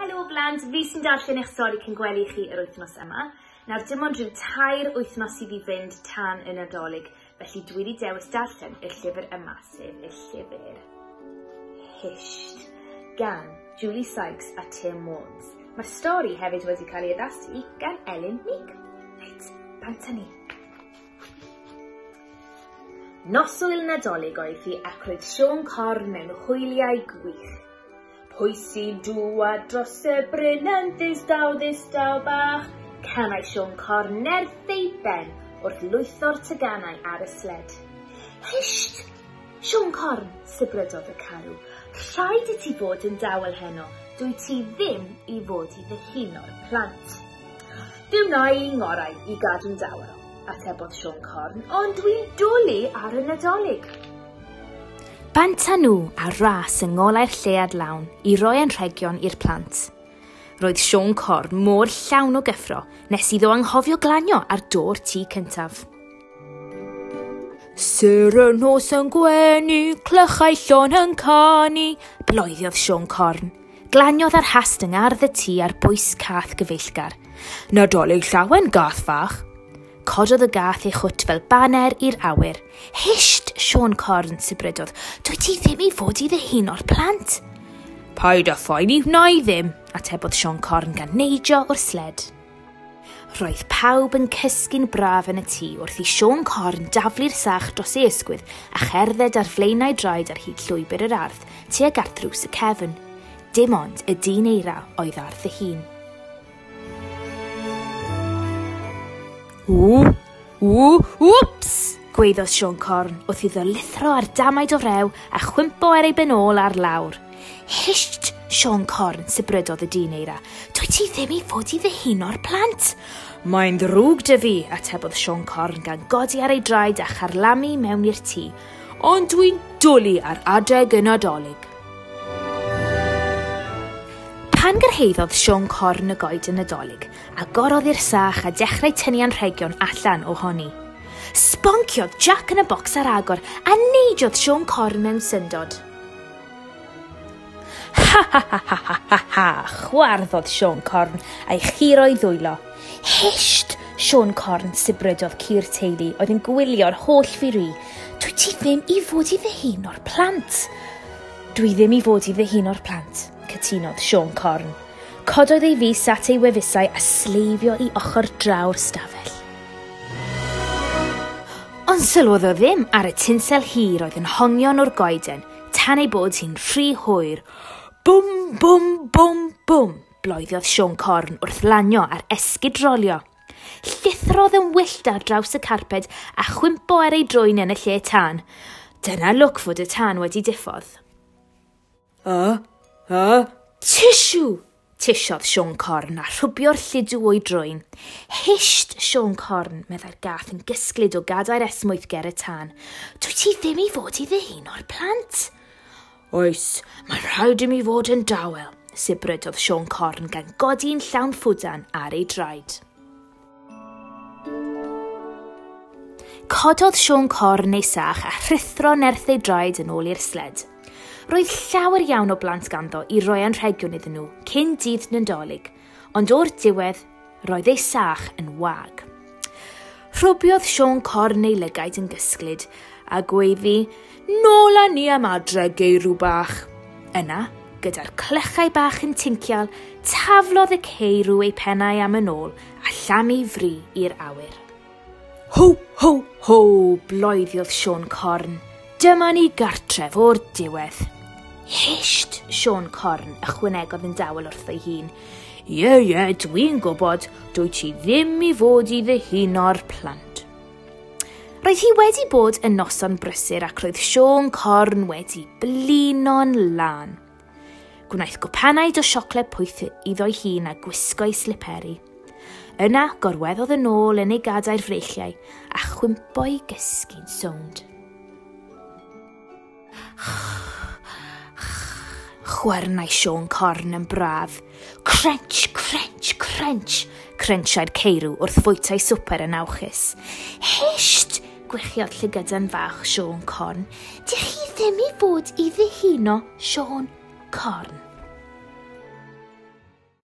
Helo blant, fi sy'n darllen eich stori cyn gwely chi yr wythnos yma. Nawr dim ond rhyw tair wythnos sydd i fynd tan y Nadolig, felly dwi wedi dewis darllen y llyfr yma, sef y llyfr Hisht gan Julie Sykes a Tim Warnes. Mae'r stori hefyd wedi cael ei addasu gan Elin Meek. Reit, bant â ni. Noswyl Nadolig oedd hi ac roedd Siôn Corn mewn hwyliau gwych. Pwy sy'n dŵad dros y bryn yn ddistaw ddistaw bach? Canai Siôn Corn nerth ei ben wrth lwytho'r teganau ar y sled. Hysht! Siôn Corn, sibrydodd y carw, rhaid i ti fod yn dawel heno, dwyt ti ddim i fod i ddihuno'r plant. Fe wna i ngorau i gadw'n dawel, atebodd Siôn Corn, ond dwi'n dwlu ar y Nadolig. Bant â nhw ar ras yng ngolau'r lleuad lawn i roi anrhegion i'r plant. Roedd Siôn Corn mor llawn o gyffro nes iddo anghofio glanio ar do'r tŷ cyntaf. Sêr y nos yn gwenu, clychau llon yn canu, bloeddiodd Siôn Corn. Glaniodd ar hast yng ngardd y tŷ ar bwys cath gyfeillgar. Nadolig llawen, gath fach! Cododd y gath ei chwt fel baner i'r awyr. Hisht, Siôn Corn, sibrydodd, dwyt ti ddim i fod i ddihuno'r plant. Paid â phoeni, wna i ddim, atebodd Siôn Corn gan neidio o'r sled. Roedd pawb yn cysgu'n braf yn y tŷ wrth i Siôn Corn daflu'r sach dros ei ysgwydd a cherdded ar flaenau draed ar hyd llwybr yr ardd tuag at ddrws y cefn. Dim ond y dyn eira oedd ar ddihun. Ww, ww, wps! gwaeddodd Siôn Corn wrth iddo lithro ar damaid o rew a chwympo ar ei ben ôl ar lawr. Hisht, Siôn Corn, sibrydodd y dyn eira. Dwyt ti ddim i fod i ddihuno'r plant. Mae'n ddrwg 'da fi, atebodd Siôn Corn gan godi ar ei draed a charlamu mewn i'r tŷ. Ond dwi'n dwlu ar adeg y Nadolig. Pan gyrhaeddodd Siôn Corn y goeden Nadolig, agorodd i'r sach a dechrau tynnu anrhegion allan ohoni. Sbonciodd Jac yn y bocs ar agor a neidiodd Siôn Corn mewn syndod. Ha ha ha ha ha ha ha, chwarddodd Siôn Corn a'i churo'i ddwylo. Hisht! Siôn Corn, sibrydodd ci'r teulu oedd yn gwylio'r holl firi. Dwyt ti ddim i fod i ddihuno'r plant. Dwi ddim i fod i ddihuno'r plant, cytunodd Siôn Corn. Cododd ei fys at ei wefusau a sleifio i ochr draw'r stafell. Ond sylwodd o ddim ar y tinsel hir oedd yn hongion o'r goeden tan ei bod hi'n rhy hwyr. Bwm, bwm, bwm, bwm! Bloeddiodd Siôn Corn wrth lanio ar esgid rolio. Llithrodd yn wyllt ar draws y carped a chwympo ar ei drwyn yn y lle tân. Dyna lwc fod y tân wedi diffodd. A, a, tisiw! Tisiodd Siôn Corn a rhwbio'r lludw o'i drwyn. Hisht, Siôn Corn, meddai'r gath yn gysglyd o gadair esmwyth ger y tân. Dwyt ti ddim i fod i ddihuno'r plant. Oes, mae'n rhaid i mi fod yn dawel, sibrydodd Siôn Corn gan godi'n llawn ffwdan ar ei draed. Cododd Siôn Corn ei sach a rhuthro nerth ei draed yn ôl i'r sled. Roedd llawer iawn o blant ganddo i roi anrhegion iddyn nhw cyn dydd Nadolig, ond o'r diwedd roedd ei sach yn wag. Rhwbiodd Siôn Corn ei lygaid yn gysglyd a gweiddi, Nôl â ni am adre, geirw bach! Yna, gyda'r clychau bach yn tincial, taflodd y ceirw eu pennau am yn ôl a llamu fri i'r awyr. Ho, ho, ho! bloeddiodd Siôn Corn. Dyma ni gartref o'r diwedd. Hisht, Siôn Corn, ychwanegodd yn dawel wrtho'i hun. Ie, ie, dwi'n gwybod, dwyt ti ddim i fod i ddihuno'r plant. Roedd hi wedi bod yn noson brysur ac roedd Siôn Corn wedi blino'n lân. Gwnaeth gwpanaid o siocled poeth iddo'i hun a gwisgo'i sliperi. Yna gorweddodd yn ôl yn ei gadair freichiau a chwympo'i gysgu'n sownd. Chwernai Siôn Corn yn braf. Crunch, crunch, crunch, crunchiai'r ceirw wrth fwyta'i swper yn awchus. Hisht! gwichiodd llygydan fach Siôn Corn. Dych chi ddim i fod i ddihuno Siôn Corn.